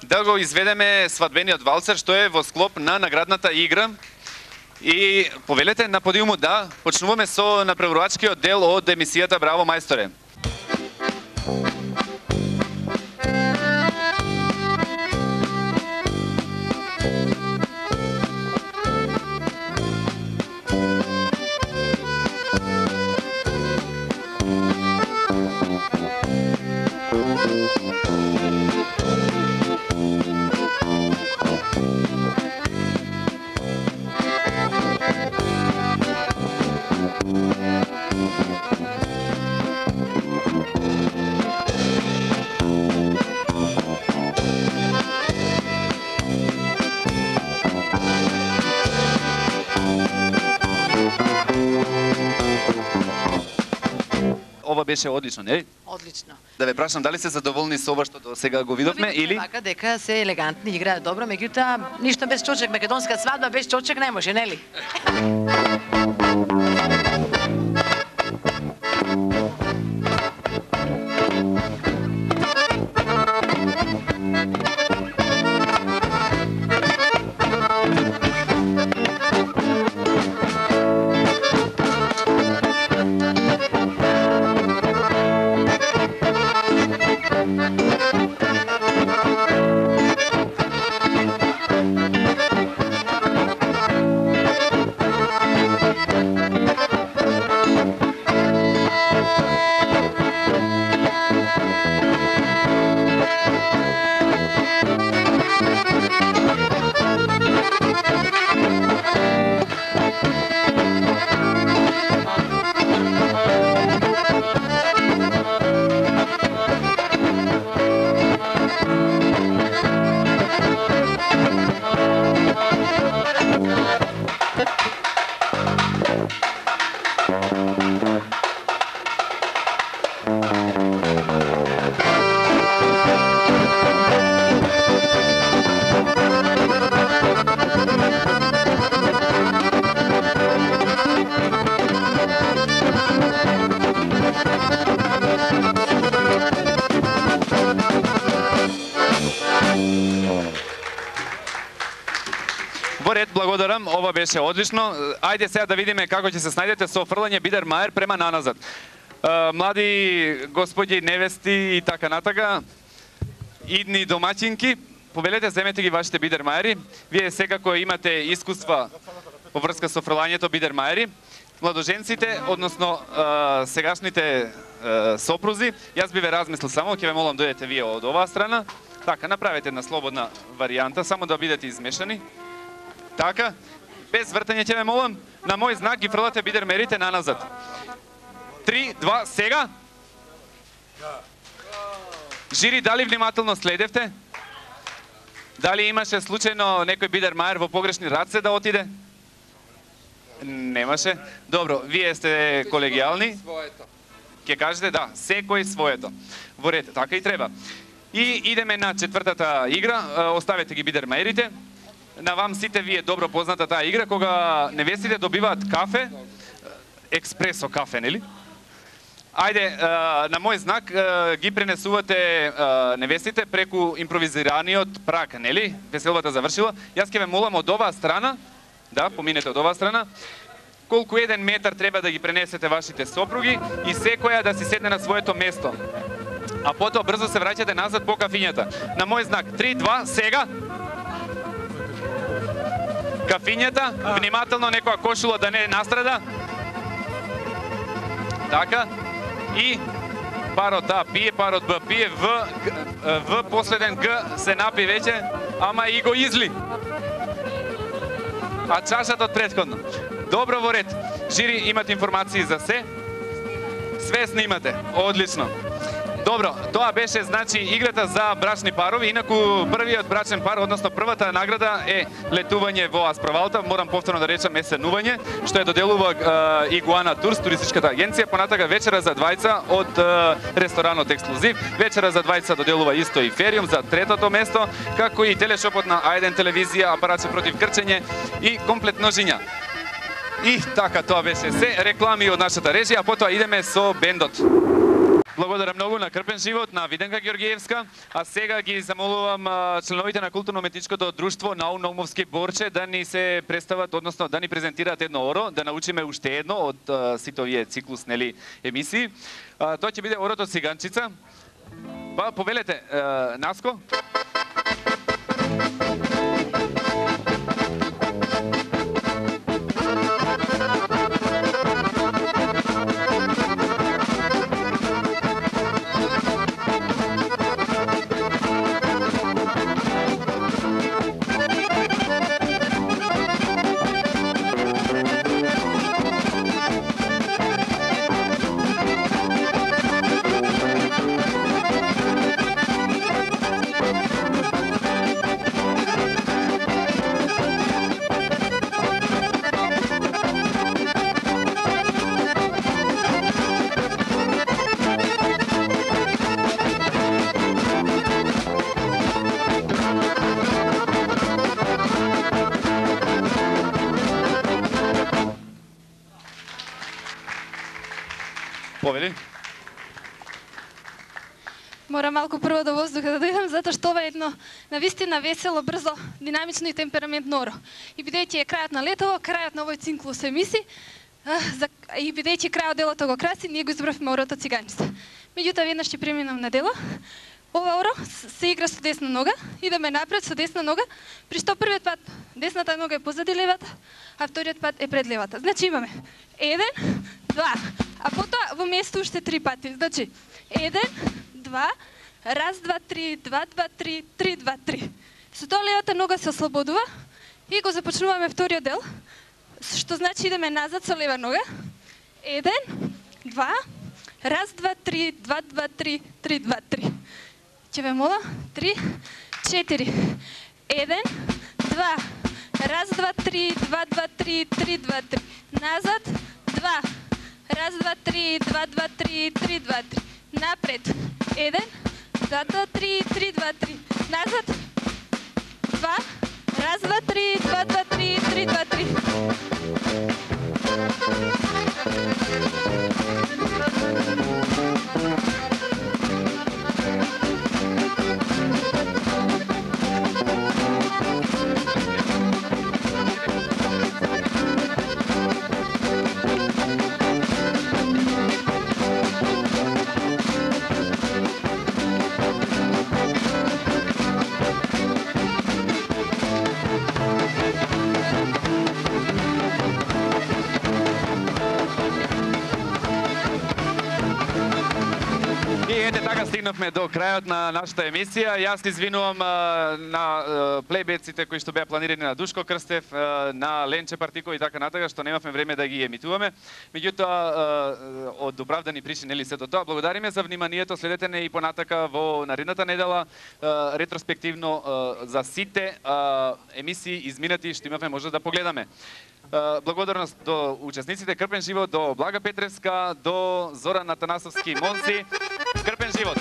да го изведеме свадбениот валцер, што е во склоп на наградната игра. И повелете на подиумот да почнуваме со направувачкиот дел од емисијата Браво мајсторе. Ова беше одлично, нели? Одлично. Да ве прашам, дали се задоволни со ова што до сега го видовме или? Вака дека се елегантни, играат добро, меѓутоа ништо без чочек, македонска свадба без чочек не може, нели? Во ред, благодарам, ова беше одлично. Ајде сега да видиме како ќе се снајдете со фрлање Бидермајер према наназад. Млади господи невести и така натака, идни домаќинки, повелете, земете ги вашите Бидермајери. Вие секако имате искуства во врска со фрлањето Бидермајери. Младоженците, односно сегашните сопрузи, јас би ве размислил само, ќе ве молам дојдете вие од оваа страна. Така, направете една слободна варијанта, само да бидете измешани. Така, без вртање ќе ве молам, на мој знак ги фрлате Бидермајерите наназад. 3, 2, сега. Жири, дали внимателно следевте? Дали имаше случајно некој Бидермајер во погрешни раце да отиде? Немаше. Добро, вие сте колегијални. Ке кажете да, секој своето. Во ред, така и треба. И идеме на четвртата игра, оставете ги Бидермајерите. На вам сите ви е добро позната таа игра, кога невестите добиваат кафе, експресо кафе, нели? Ајде, на мој знак ги пренесувате невестите преку импровизираниот прак, нели? Веселбата завршила. Јас ќе ве молам од оваа страна, да, поминете од оваа страна, колку 1 метар треба да ги пренесете вашите сопруги и секоја да си седне на своето место. А потоа брзо се враќате назад по кафињата. На мој знак, 3, 2, сега! Кафињата, внимателно, некоја кошула да не настрада. Така. И парот А пие, парот Б пие, В последен Г се напи веќе, ама и го изли. А чашата од претходно. Добро, во ред. Жири, имате информации за се? Свесни имате. Одлично. Добро, тоа беше, значи, играта за брачни парови. Инаку, првиот брачен пар, односно првата награда е летување во Асправалта. Морам повторно да речам есенување, што е доделува Игуана Турс, туристичката агенција. Понатака вечера за двајца од ресторанот Ексклузив. Вечера за двајца доделува исто и Фериум за третото место, како и телешопот на А1 телевизија, апаратче против крчење и комплет ножиња. И така, тоа беше се. Реклами од нашата режија, а потоа идеме со бендот. Благодарам многу на Крпен живот, на Виденка Георгиевска, а сега ги замолувам членовите на културно-уметничкото друштво Наум Наумовски Борче да ни се представат, односно да ни презентираат едно оро, да научиме уште едно од сите овие циклус, нели, емисии. Тоа ќе биде орото Циганчица. Па повелете, Наско. Повели? Мора малку прво до воздуха да дојдам, затоа што ова е едно навистина весело, брзо, динамично и темпераментно оро. И бидејќи е крајот на летово, крајот на овој циклус емисии, и бидејќи крајот делото го краси, ние го избравме орото Циганчица. Меѓутоа, веднаш ќе преминам на дело. Ова оро се игра со десна нога, идеме напред со десна нога, при што првиот пат десната нога е позади левата, а вториот пат е пред левата. Значи имаме 1, 2, а потоа во место уште 3 пати. Значи 1, 2, раз, 2, 3, 2, 2, 3, 3, 2, 3. Со тоа левата нога се ослободува и го започнуваме вториот дел, што значи идеме назад со лева нога. 1, 2, раз, 2, 3, 2, 2, 3, 3, 2, 3. Ќе ве мола, 3, 4, 1, 2, раз, 2, 3, 2, 2, 3, 3, 2, 3. Назад, 2, раз, 2, 3, 2, 2, 3, 3, 2, 3. Напред, 1, 2, 2, 3, 3, 2, 3. Назад, 2, раз, 2, 3, 2, 2, 3, 3, 2, Стигнавме до крајот на нашата емисија. Јас извинувам на плейбеците кои што беа планирани на Душко Крстев, на Ленче Партико и така натака, што немавме време да ги емитуваме. Меѓутоа, од оправдани причини, нели сето тоа, благодариме за вниманието. Следете не и понатака во наредната недела ретроспективно за сите емисии изминати што имавме може да погледаме. Благодарност до учесниците Крпен живот, до Блага Петревска, до Зоран Атанасовски Монси. Крпен живот!